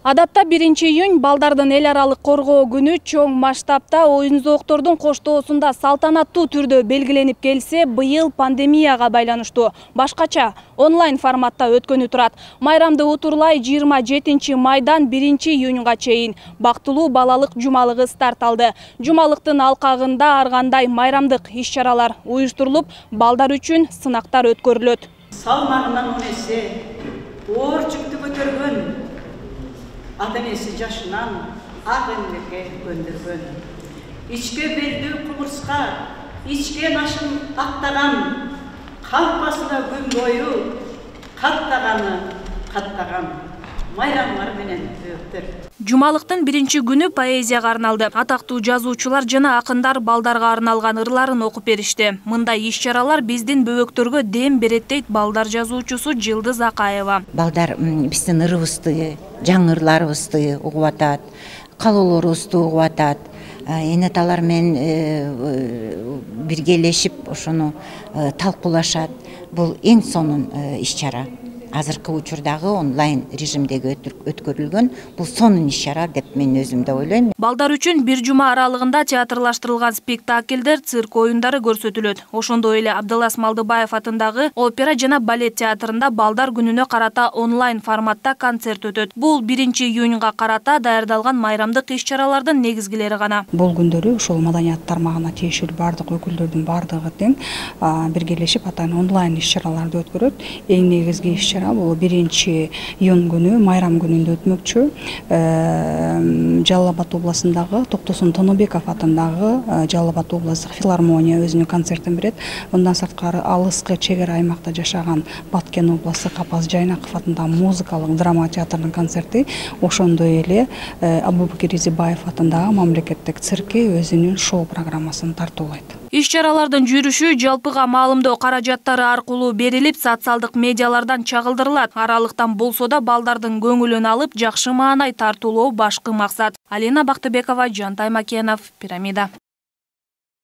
Адатта 1-июнь балдардын эл аралык коргоо күнү чоң масштабта оюн-зооктордун коштоосунда салтанаттуу түрдө белгиленип келсе, быйыл пандемияга байланыштуу башкача онлайн форматта өткөнү турат. Майрамды утурлай 27 майдан 1-июнга чейин бактылуу балалык жумалыгы старт алды. Жумалыктын алкагында ар кандай майрамдык иш-чаралар уюштурулуп, балдар үчүн сынактар өткөрүлөт. Салмагынан 10 эсе оор жүктү көтөргөн ата-энеси жашынан ак эмгекке көндүргөн. Ичке белдүү кумурска, ичкен ашын аттаган, калпасына күн бою каттаган майрамдар менен өттөр. Жумалыктын 1-күнү поэзияга арналды. Атактуу жазуучулар жана акындар балдарга арналган ырларын окуп беришти. Мындай иш-чаралар биздин бөбөктөргө дем берет дейт балдар жазуучусу Жылдыз Акаева. Балдар биздин ырыбызды, жаңы ырларыбызды угуп атат, каалоолорубузду угуп атат. Энеталар менен биргелешип ошону талкуулашат. Бул эң сонун иш-чара. Азыркы учурдагы онлайн режимдеги өткөрүлгөн бул сонун иш-чара деп мен өзүм да ойлойм. Балдар үчүн бир жума аралыгында театрлаштырылган спектакльдер, цирк оюндары көрсөтүлөт. Ошондой эле Абдылас Малдыбаев атындагы опера жана балет театрында балдар күнүнө карата онлайн форматта концерт өтөт. Бул 1-июнга карата даярдалган майрамдык иш-чаралардын негизгилери гана. Бул күндөрү ушул маданият тармагына тиешелүү бардык өкүлдөрдүн бардыгы тең биргелешип атайын онлайн иш-чараларды өткөрөт. Эң негизги иш-чара бул 1-июнь күнү майрам күнүндө өтмөкчү. Жалал Абад областындагы Токтосун Тонобеков атындагы Жалал Абад областтык филармония өзүнүн концертин берет. Мындан сырткары алыскы чек ара аймакта жашаган Баткен областтык Апаз Жайнаков атындагы музыкалык драма театрынын концерти, ошондой эле Абубакир Изибаев атындагы мамлекеттик цирки өзүнүн шоу программасын тартуулайт. Иш-чаралардын жүрүшү жалпыга маалымдоо каражаттары аркылуу берилип, социалдык медиалардан чагылдырылат. Аралыктан болсо да балдардын көңүлүн алып, жакшы маанай тартуулоо башкы максат. Алина Бактыбекова, Жантай Макенов, Пирамида.